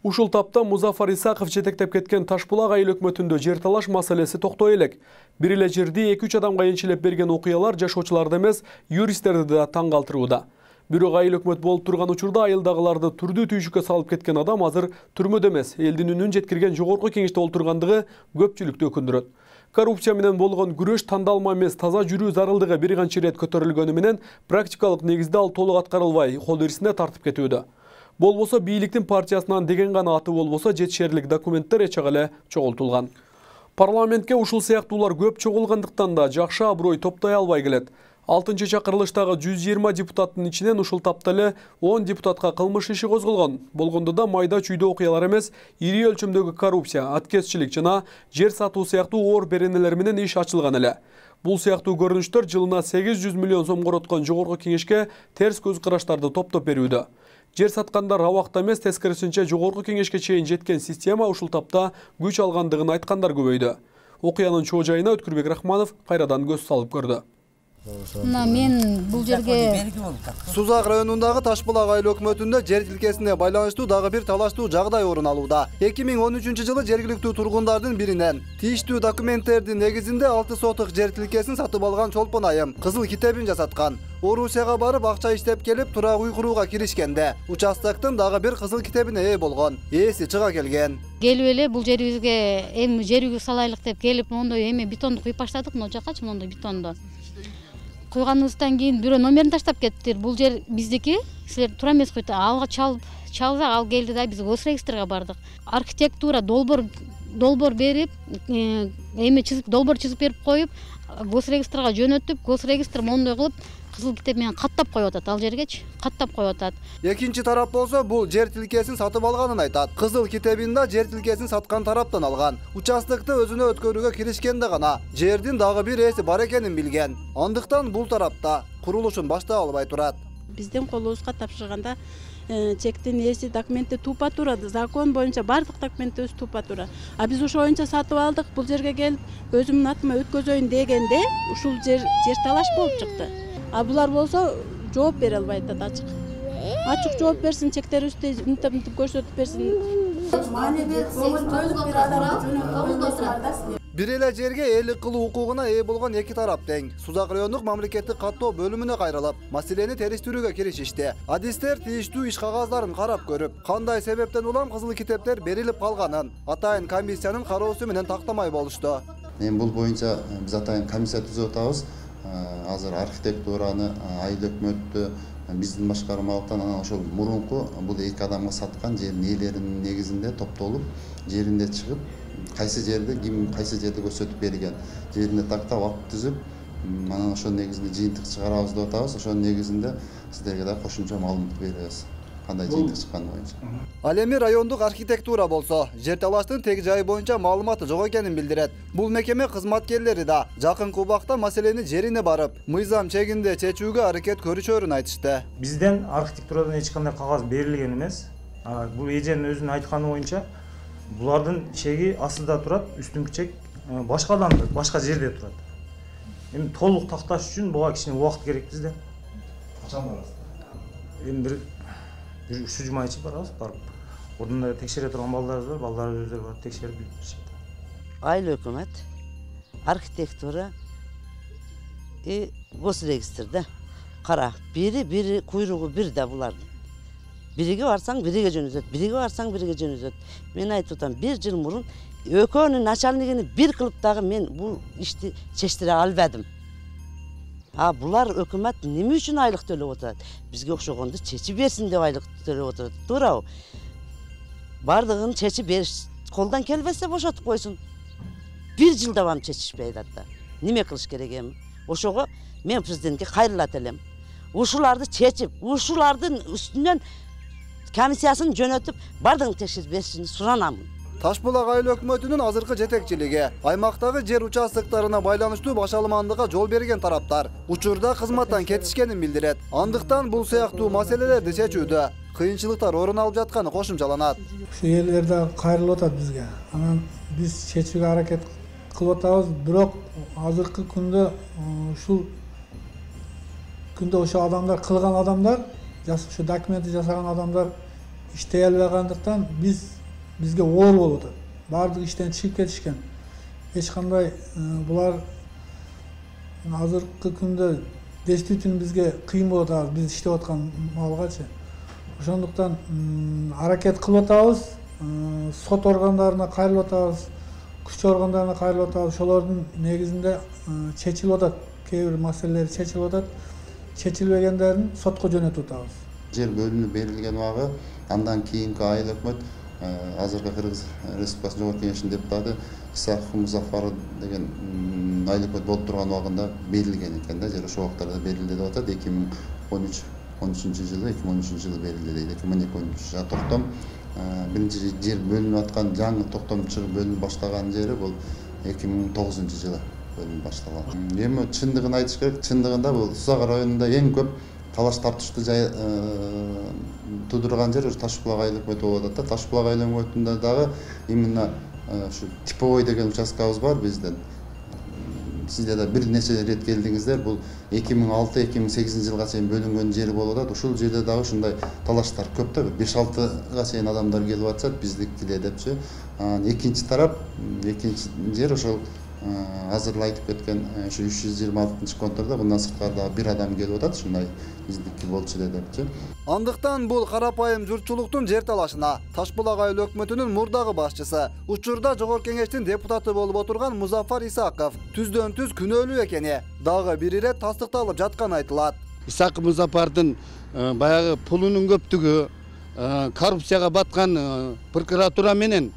Ушул тапта Музафар Исаков жетектеп кеткен Ташбулак айыл өкмөтүндө жер талаш маселеси токтой элек. Бир эле жерди 2-3 адамга энчилеп берген окуялар жашоочуларды эмес, юристтерди да таң калтырууда. Бирок айыл өкмөт болуп турган учурда айылдагыларды түрдүү түйшүккө салып кеткен адам азыр түрмөдө эмес, элдин үнүн жеткирген жогорку кеңеште олтургандыгы көпчүлүктү өкүндүрөт. Коррупция менен болгон күрөш тандалма эмес, таза жүрүү зарылдыгы бир канча ирет көтөрүлгөнү менен практикалык негизде ал толук аткарылбай, кол ирисине тартып кетүүдө. Болбосо бийликтин партиясынан деген гана аты болбосо жетишерлик документтер эчеге эле чогултулган. Парламентке ушул сыяктуулар көп чогулгандыктан да жакшы аброй топтой албай келет. 6-чакырылыштагы 120 депутаттын ичинен ушул тапта эле 10 депутатка кылмыш иши козголгон. Болгондо да майда чүйдө окуялар эмес, ири өлчөмдөгү коррупция, аткезчилик жана жер сатуу сыяктуу оор беренелер менен иш ачылган эле. Бул сыяктуу көрүнүштөр жылына 800 миллион сом короткон жогорку кеңешке терс көз караштарды топтоп берүүдө. Жер саткандар абакта эмес, тескерисинче жогорку кеңешке чейин жеткен система ушул тапта күч алгандыгын айткандар көбөйдү. Окуянын чоо жайына Өткүрбек Рахманов кайрадан көз салып көрдү. Мен бул жерге Сузак районундагы Ташбулак айыл өкмөтүндө жер тилкесине байланыштуу дагы бир талаштуу жагдай орун алууда. 2013 жылы жергиликтүү тургундардын биринен тийиштүү документтердин негизинде 6 сотук жер тилкесин сатып алган Чолпон айым кызыл китебин жасаткан. Орусияга барып акча иштеп келип турак үй курууга киришкенде участоктун дагы бир кызыл китебине ээ болгон. Ээси чыга келген. Келип эле бул жерибизге эми жер үйгө салайлык деп келип, мондой эме бетонду куюп баштадык, могу жакачы мондой бетонду. Куйганыбыздан кийин бирөө номерин таштап кеттир. Бул жер биздики, силер туура эмес койду. Алга чалсак ал келди да, биз госрегистрге бардык. Архитектура долбоор берип, эме долбоор чызып берип коюп, госрегистрга жөнөтүп, госрегистр мондой кылып кызыл китеп менен каттап коюп атат, ал жергечи каттап коюп атат. Экинчи тарап болсо бул жер тилкесин сатып алганын айтат. Кызыл китебин да жер тилкесин саткан тараптан алган. Участокты өзүнө өткөрүүгө киришкенде гана жердин дагы бир ээси бар экенин билген. Андыктан бул тарапта курулушун баштап албай турат. Биздин колубузга тапшырганда чектин ээси документи тупа тура, закон боюнча бардык документи өзү тупа тура. А биз ошо боюнча сатып алдык, бул жерге келип өзүмдүн атыма өткөзөйүн дегенде ушул жер талаш болуп чыкты. А булар болсо жооп бере албай атат ачык. Ачык жооп берсин, чектерибизди мынтип көрсөтүп берсин. Бир эле жергеээлик кылуу укугуна ээ болгон эки тарап тең. Сузак райондук мамлекеттик каттоо бөлүмүнө кайрылып, маселени териштирүүгө киришишти. Адистер тийиштүү иш кагаздарын карап көрүп, кандай себептен улам кызыл китептер берилип калганын атайын комиссиянын кароосу менен тактамай болушту. Эми бул боюнча биз атайын комиссия түзүп атабыз. Азыр архитектураны, айыл өкмөттү биздин башкармалыктан анан ошол мурунку бул эки адамга саткан жердин ээлеринин негизинде топтолуп, жеринде чыгып, кайсы жерде ким кайсы жерде көрсөтүп берген, жеринде тактап акт түзүп, анан ошонун негизинде жыйынтык чыгарабыз деп атабыз. Ошонун негизинде сиздерге да кошумча маалымат беребиз. Кандай жыйынтык чыкканы боюнча. Ал эми райондук архитектура болсо, жер талаштын тег жайы боюнча маалыматы жок экенин билдирет. Бул мекеме кызматкерлери да жакынкы убакта маселени жерине барып, мыйзам чегинде чечүүгө аракет көрүшөрүн айтышты. Бизден архитектурадан эч кандай кагаз берилген эмес. Бул эженин өзүнүн айтканы боюнча булардын чеги астында турат, үстүнкү чек башка адамда, башка жерде турат. Эми толук такташ үчүн буга кичине убакыт керек бизде. Качан барасыз? Эми бир 3 жума ичи барабыз, барып. Ордунда текшере турган балдарыбыз бар, балдарыбыз өздөрү барып текшерип беришет. Айыл өкмөт, архитектура госрегистрде кара, бири куйругу бир да булардын. Бириге барсаң бириге жөнөтөт, бириге барсаң бириге жөнөтөт. Мен айтып атам, 1 жыл мурун экөөнүн начальнигини бир кылып дагы мен бул ишти чечтире албадым. Булар өкмөт неме үчүн айлык төлөп отурат? Бизге окшогонду чечип берсин деп айлык төлөп отурат. Туурабы? Бардыгын чечип бериш колдон келбесе бошотуп койсун. 1 жылда бам чечишпей атат да. Неме кылыш керек эми? Ошого мен президентке кайрылат элем. Ушуларды чечип, ушулардын үстүнөн комиссиясын жөнөтүп, бардыгын текшерип беришин суранамын. Таш булак айыл өкмөтүнүн азыркы жетекчилиги аймактагы жер участоктарына байланыштуу башалмандыкка жол берген тараптар учурда кызматтан кетишкенин билдирет. Андыктан бул сыяктуу маселелерди чечүүдө кыйынчылыктар орун алып жатканы кошумчаланат. Ушу элдер да кайрылып атат бизге. Анан биз чечүүгө аракет кылып атабыз, бирок азыркы күндө ошо адамдар кылган адамдар, ушу документти жасаган адамдар иштей албагандыктан бизге оор болуп атат. Баардык иштен чыгып кетишкен. Эч кандай булар азыркы күндө действительно бизге кыйын болуп атат, биз иштеп аткан малгачы. Ошондуктан аракет кылып атабыз, сот органдарына кайрылып атабыз, күч органдарына кайрылып атабыз. Ошолордун негизинде чечилип атат, кээ бир маселелер чечилип атат. Чечилбегендерин сотко жөнөтүп атабыз. Жер бөлүнүп берилген убагы, андан кийинки айыл өкмөт азыркы Кыргыз Республикасы Жогорку Кеңешинин депутаты Исаков Музафар деген айыл өкмөт болуп турган убагында берилген экен да, жер ошол убактарда берилди деп атат. 2013 жылы берилди дейт. 2012-13 токтом биринчи жер бөлүнүп аткан жаңы токтом чыгып бөлүнүп баштаган жери бул 2009 жылы бөлүнүп башталган. Эми чындыгын айтыш керек, чындыгында бул Сузак районунда эң көп талаш тартыштуу туудурган жер Таш булак айыл өкмөтү болуп атат. Таш булак айыл өкмөтүндө дагы именно ушу типовой деген участкабыз бар бизден. Сиздер да бир нече рет келдиңиздер. Бул 2006-2008 жылга чейин бөлүнгөн жер болуп атат. Ушул жерде дагы ушундай талаштар көп да, 5-6га чейин адамдар келип атышат, биздикиле депчи. Экинчи тарап, экинчи жер ошол азыр айтып кеткен ушу 326-контордо мындан сырткары бир адам келип атат, ушундай биздики болчу депчи. Андыктан бул карапайым журтчулуктун жер талашына Таш булак айыл өкмөтүнүн мурдагы башчысы, учурда Жогорку Кеңештин депутаты болуп отурган Музафар Исаков түздөн-түз күнөөлүү экени дагы бир ирет тастыкталып жатканы айтылат. Исаков Музафардын баягы пулунун көптүгү, коррупцияга баткан прокуратура менен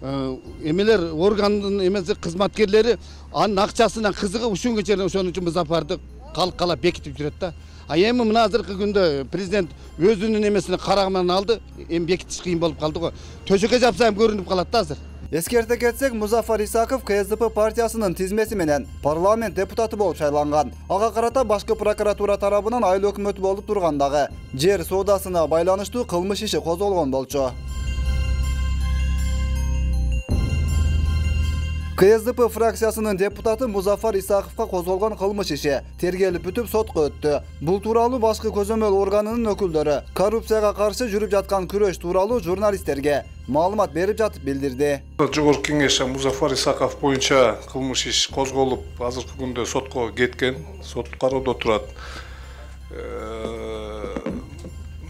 эмелер органдын эмеси кызматкерлери анын акчасына кызыгып ушунга чейин ошон үчүн Музафарды калкалап бекитип жүрөт да. Эми мына азыркы күндө президент өзүнүн эмесине караган алды, эми бекитиш кыйын болуп калды го. Төшөккө жапса эми көрүнүп калат да азыр. Эскерте кетсек, Музафар Исаков КСДП партиясынын тизмеси менен парламент депутаты болуп шайланган. Ага карата башкы прокуратура тарабынан айыл өкмөтү болуп тургандагы жер соодасына байланыштуу кылмыш иши козголгон болчу. КСДП фракциясынын депутаты Музафар Исаковго козголгон кылмыш иши тергелип бүтүп сотко өттү. Бул тууралуу башкы көзөмөл органынын өкүлдөрү коррупцияга каршы жүрүп жаткан күрөш тууралуу журналисттерге маалымат берип жатып билдирди. Жогорку Кеңеш Музафар Исаков боюнча кылмыш иш козголуп, азыркы күндө сотко кеткен, сот кароодо турат.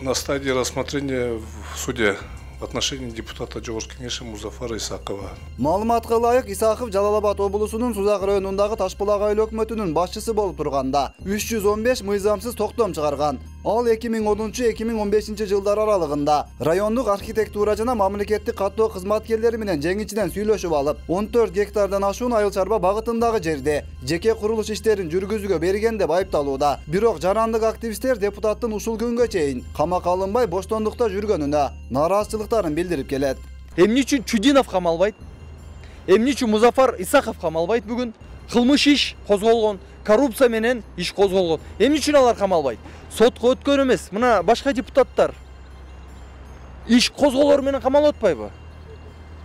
На стадии рассмотрения в суде в отношении депутата Жогорку Кеңеши Музафара Исакова. Маалыматка ылайык, Исаков Жалал Абад облусунун Сузак районундагы Таш булак айыл өкмөтүнүн башчысы болуп турганда 315 мыйзамсыз токтом чыгарган. Ал 2010-2015 жылдар аралыгында райондук архитектура жана мамлекеттик каттоо кызматкерлери менен жеңичинен сүйлөшүп алып, 14 гектардан ашуун айыл чарба багытындагы жерди жеке курулуш иштерин жүргүзүүгө берген деп айыпталууда. Бирок жарандык активисттер депутаттын ушул күнгө чейин камакка алынбай боштондукта жүргөнүнө нааразычылыктарын билдирип келет. Эмне үчүн Чудинов камалбайт? Эмне үчүн Музафар Исаков камалбайт бүгүн? Кылмыш иш козголгон, коррупция менен иш козголгон. Эмне үчүн алар камалбайт? Сотко өткөн эмес, мына башка депутаттар иш козголор менен камалып атпайбы?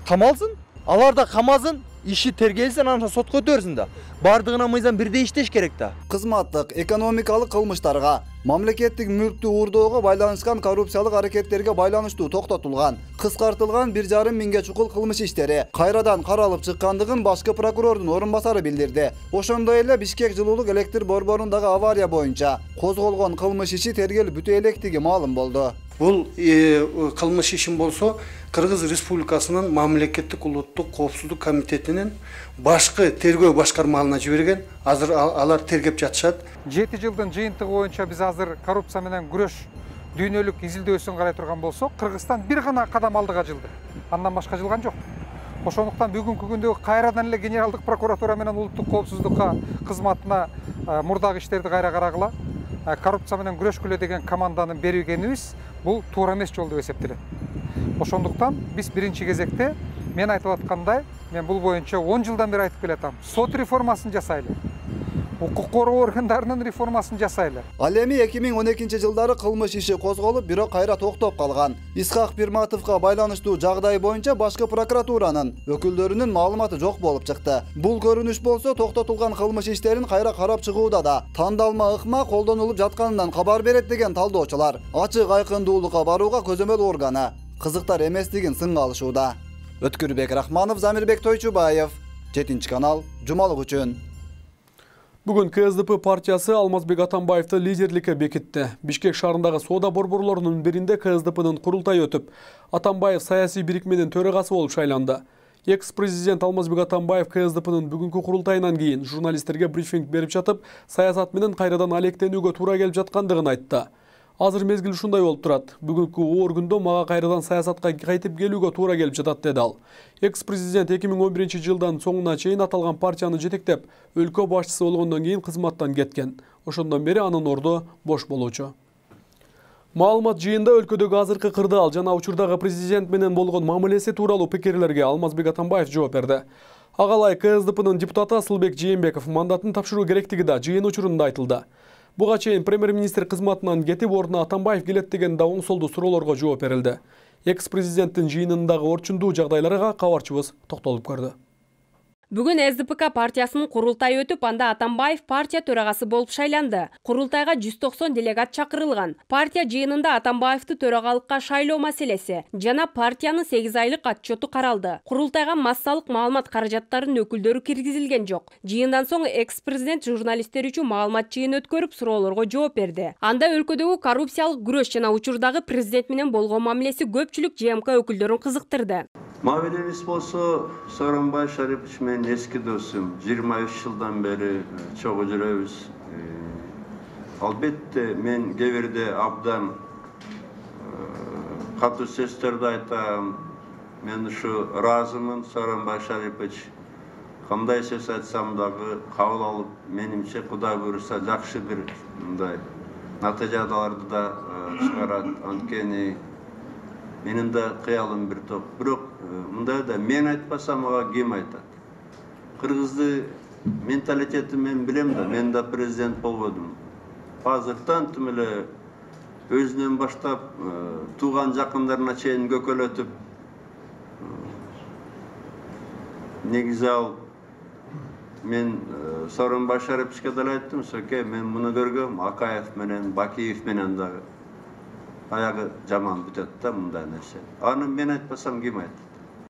Камалсын, алар да камалсын, иши тергелсин, анан сотко өтөрсүн да. Бардыгына мыйзам бирдей иштеш керек да. Кызматтык, экономикалык кылмыштарга, мамлекеттик мүлктү уурдоого байланышкан коррупциялык аракеттерге байланыштуу токтотулган, кыскартылган 1,5 миңге чукул кылмыш иштери кайрадан каралып чыккандыгын башкы прокурордун орун басары билдирди. Ошондой эле Бишкек жылуулук электр борборундагы авария боюнча козголгон кылмыш иши тергелип бүтө электиги маалым болду. Бул кылмыш ишин болсо Кыргыз Республикасынын мамлекеттик улуттук коопсуздук комитетинин башкы тергөө башкармаларына жиберген. Азыр алар тергеп жатышат. 7 жылдын жыйынтыгы боюнча биз азыр коррупция менен күрөш дүйнөлүк изилдөөсүн карай турган болсок, Кыргызстан бир гана кадам алдыга жылды. Андан башка жылган жок. Ошондуктан бүгүнкү күндө кайрадан эле генералдык прокуратура менен улуттук коопсуздукка кызматына мурдагы иштерди кайра карагыла. Коррупция менен күрөшкүлө деген команданы бергенибиз бул туура эмес жол деп эсептелет. Ошондуктан биз биринчи кезекте мен айтып аткандай, мен бул боюнча 10 жылдан бери айтып келатам. Сот реформасын жасайлы. Укук коргоо органдарынын реформасын жасайлы. Ал эми 2012-жылдары кылмыш иши козголуп, бирок кайра токтоп калган. Исхак Пирматовго байланыштуу жагдай боюнча башкы прокуратуранын өкүлдөрүнүн маалыматы жок болуп чыкты. Бул көрүнүш болсо токтотулган кылмыш иштерин кайра карап чыгууда да тандалма ыкма колдонулуп жатканынан кабар берет деген талдоочулар. Ачык айкындуулукка барууга көзөмөл органы кызыктар эместигин сынга алышууда. Өткүрбек Рахманов, Замирбек Тойчубаев, 7-канал, жумалык үчүн. Бүгүн КСДП партиясы Алмазбек Атамбаевди лидерликке бекитти. Бишкек шаарындагы соода борборлорунун биринде КСДПнын курултайы өтүп, Атамбаев саясий бирикменин төрагасы болуп шайланды. Экс-президент Алмазбек Атамбаев КСДПнын бүгүнкү курултайынан кийин журналисттерге брифинг берип жатып, саясат менен кайрадан алектенүүгө туура келип жаткандыгын айтты. Азыр мезгил ушундай болуп турат. Бүгүнкү оор күндө мага кайрадан саясатка кайтып келүүгө туура келип жатат, деди ал. Экс-президент 2011-жылдан соңуна чейин аталган партияны жетектеп, өлкө башчысы болгондон кийин кызматтан кеткен. Ошондон бери анын орду бош болуучу. Маалымат жыйында өлкөдөгү азыркы кырдаал жана учурдагы президент менен болгон мамилеси тууралуу пикирлерге Алмазбек Атамбаев жооп берди. Агалай КСДПнын депутаты Асылбек Жээнбеков мандатын тапшыруу керектиги да жыйын учурунда айтылды. Буга чейин премьер-министр кызматынан кетип, ордуна Атамбаев келет деген да оңсолдуу суроолорго жооп берилди. Экс-президенттин жыйынындагы орчундуу жагдайларга кабарчыбыз токтолуп көрдү. Бүгүн СДПК партиясынын курултайы өтүп, анда Атамбаев партия төрагасы болуп шайланды. Курултайга 190 делегат чакырылган. Партия жыйынында Атамбаевди төрагалыкка шайлоо маселеси жана партиянын 8 айлык отчету каралды. Курултайга массалык маалымат каражаттарынын өкүлдөрү киргизилген жок. Жыйындан соң экс-президент журналисттер үчүн маалымат жыйын өткөрүп, суроолорго жооп берди. Анда өлкөдөгү коррупциялык күрөш жана учурдагы президент менен болгон мамилеси көпчүлүк ЖМК өкүлдөрүн кызыктырды. Мамилебиз болсо Сооронбай Шарипович менен эски досум, 23 жылдан бери чогуу жүрөбүз. Албетте мен кээ абдан катуу сөздөрдү айтам. Мен ушу ыраазымын Сооронбай Шарипович. Кандай сөз айтсам дагы кабыл алып, менимче Кудай буйруса жакшы бир мындай натыйжаларды да чыгарат. Анткени менин да кыялым бир топ. Бирок мындай да мен айтпасам ага ким айтат? Кыргызды менталитети мен билем да, мен да президент болбодум. Азыртан тим эле өзүнөн баштап тууган жакындарына чейин көкөлөтүп, негизи ал мен Сооронбай Шариповичке деле айттым, сөке мен муну көргөм, Акаев менен, Бакиев менен дагы аягы жаман бүтөт да мындай нерсе. Аны мен айтпасам ким айтат?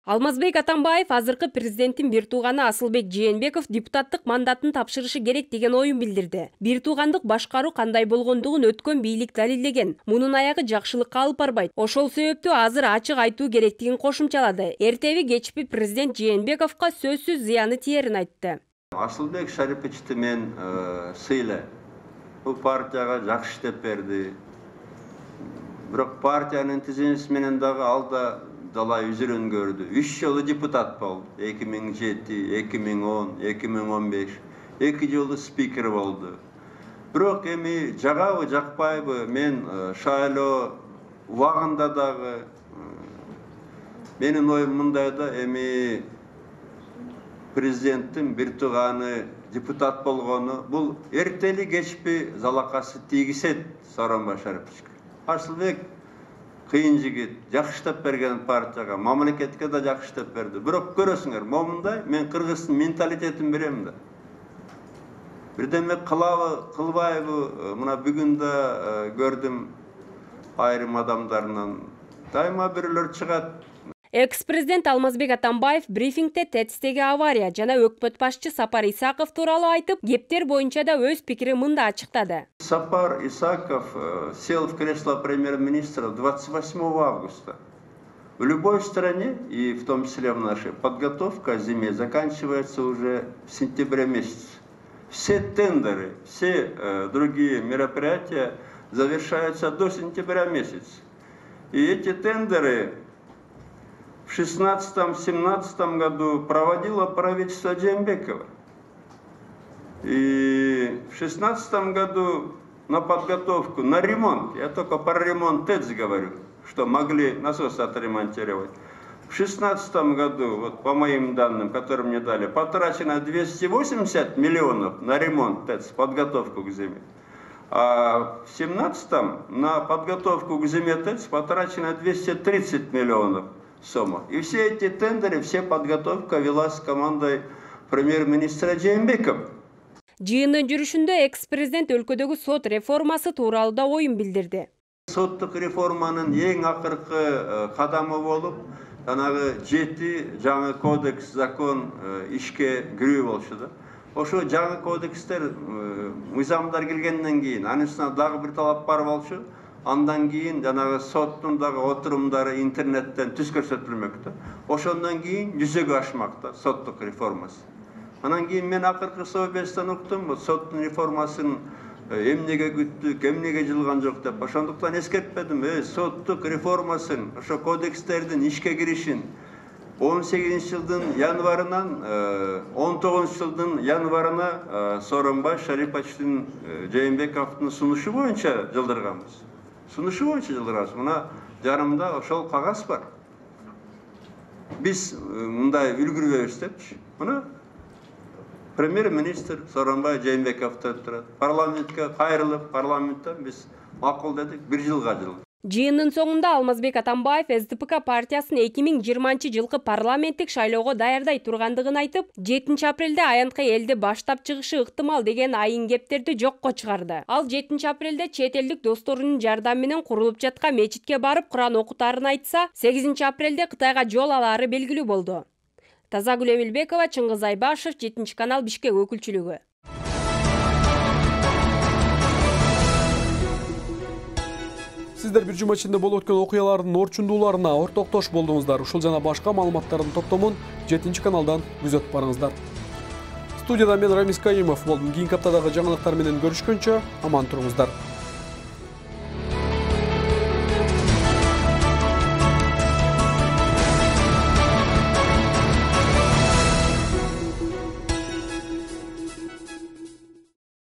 Алмазбек Атамбаев азыркы президенттин бир тууганы Асылбек Жээнбеков депутаттык мандатын тапшырышы керек деген оюн билдирди. Бир туугандык башкаруу кандай болгондугун өткөн бийлик далилдеген. Мунун аягы жакшылыкка алып барбайт. Ошол себептүү азыр ачык айтуу керектигин кошумчалады. Эртеби кечпи президент Жээнбековго сөзсүз зыяны тиерин айтты. Асылбек Шариповичти мен сыйлайм. Бул партияга жакшы иштеп берди. Бирок партиянын тизимеси менен дагы ал да далай үзүрүн көрдү. 3 жолу депутат болду. 2007, 2010, 2015. 2 жолу спикер болду. Бирок эми жагабы, жакпайбы, мен шайлоо убагында дагы менин оюм мындай да, эми президенттин бир тууганы депутат болгону бул эртели кечпи залакасы тийгизет Сооронбай Шариповичке. Асылбек кыйын жигит, жакшы иштеп берген партияга, мамлекетке да жакшы иштеп берди. Бирок көрөсүңөр, момундай мен кыргыздын менталитетин берем да. Бирдеме кылабы, кылбайбы, мына бүгүн да көрдүм айрым адамдарынан дайыма бирөөлөр чыгат. Экс-президент Алмазбек Атамбаев брифингде ТЭЦтеги авария жана өкмөт башчы Сапар Исаков тууралуу айтып, кептер боюнча да өз пикирин мында ачыктады. Сапар Исаков сел в кресло премьер-министра 28 августа. В любой стране, и в том числе в нашей, подготовка к зиме заканчивается уже в сентябре месяце. Все тендеры, все другие мероприятия завершаются до сентября месяца. И эти тендеры в 2016-2017 году проводило правительство Жээнбекова. И в 2016 году на подготовку, на ремонт, я только про ремонт ТЭЦ говорю, что могли насос отремонтировать, В 2016 году, вот по моим данным, которые мне дали, потрачено 280 миллионов на ремонт ТЭЦ, подготовку к зиме. А в 2017 на подготовку к зиме ТЭЦ потрачено 230 миллионов сумма. И все эти тендеры, все подготовка велась командой премьер-министра Жээнбекова. Жыйындын жүрүшүндө экс-президент өлкөдөгү сот реформасы тууралуу да оюн билдирди. Соттук реформанын эң акыркы кадамы болуп, жанагы 7 жаңы кодекс, закон ишке кирүү болчу да. Ошо жаңы кодекстер, мыйзамдар келгенден кийин, анын үстүнө дагы бир талап бар болчу. Андан кийин жанагы соттун дагы отурумдары интернеттен түз көрсөтүлмөктө. Ошондон кийин жүзөгө ашмакта соттук реформасы. Анан кийин мен акыркы совбестен уктум, соттун реформасын эмнеге күттүк, эмнеге жылган жок деп. Ошондуктан эскертпедим, соттук реформасын, ошо кодекстердин ишке киришин 18 жылдын январынан 19 жылдын январына Сооронбай Шариповичтин Жээнбековдун сунушу боюнча жылдырганбыз. Сунушу боюнча жылдырганбыз. Мына жарымда ошол кагаз бар. Биз мындай үлгүрбөйбүз депчи. Мына премьер-министр Сооронбай Жээнбеков турат. Парламентке кайрылып, парламенттен биз макул дедик, 1 жылга жылды. Жыйындын соңунда Алмазбек Атамбаев СДПК партиясын 2020 жылкы парламенттик шайлоого даярдай тургандыгын айтып, 7 апрелде аянтка элди баштап чыгышы ыктымал деген айын кептерди жокко чыгарды. Ал 7 апрелде чет элдик досторунун жардамы менен курулуп жаткан мечитке барып Куран окутаарын айтса, 8 апрелде Кытайга жол алаары белгилүү болду. Тазагүл Эмилбекова, Чыңгыз Айбашев, 7 канал Бишкек өкүлчүлүгү. Сиздер бир жума ичинде болуп өткөн окуялардын орчундууларына ортоктош болдуңуздар. Ушул жана башка маалыматтардын топтомун 7 каналдан күзөтүп барыңыздар. Студияда мен Рамис Каимов болдум. Кийинки аптадагы жаңылыктар менен көрүшкөнчө аман туруңуздар.